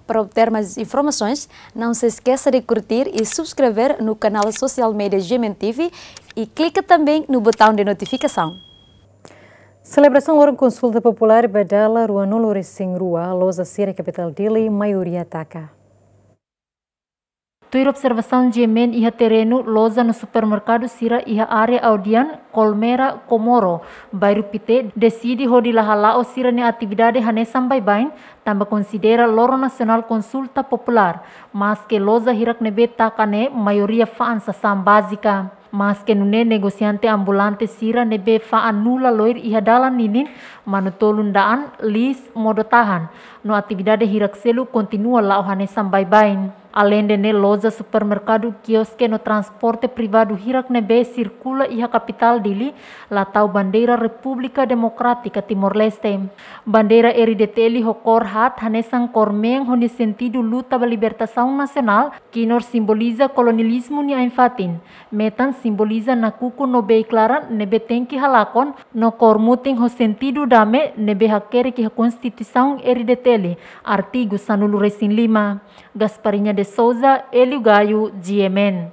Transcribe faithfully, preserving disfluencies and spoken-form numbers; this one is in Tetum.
Para obter mais informações, não se esqueça de curtir e subscrever no canal social media G M N T V e clica também no botão de notificação. Selebrasaun loron konsulta populár ba dala ruanulu-resin-rua, loja sira iha kapitál Dili maioria taka. Tuir observasaun G M N iha terrenu, loja no supermerkadu sira iha área Audian, Colmera, Comoro, bairru Pité, deside hodi la hala'o sira-nia atividade hanesan baibain, tanba konsidera loron nasionál konsulta populár. Maske loja hirak ne'ebé taka ne'e maioria fa'an sasán bázika. Maske nune'e, negosiante ambulante sira ne'ebé fa'an nula loir iha dalan ninin, manu-tolun da'an, liis, modo-tahan, no atividade hirak seluk kontinua la'o hanesan baibain. Aleinde ne'e, loja, supermerkadu, kioske no transporte privadu hirak ne'ebé sirkula iha kapitál Dili la tau bandeira Repúblika Demokrátika Timor-Leste. Bandeira R D T L ho kór haat hanesan kór mean ho nia sentidu luta ba libertasaun nasionál, kinur simboliza kolonializmu nia ain-fatin. Metan simboliza nakukun no bei-klaran ne'ebé tenke halakon, no kór mutin ho sentidu dame ne'ebé hakerek iha Konstituisaun R D T L, artigu sanulu-resin-lima. Gasparinha de Souza, Hélio Gaio, G M N.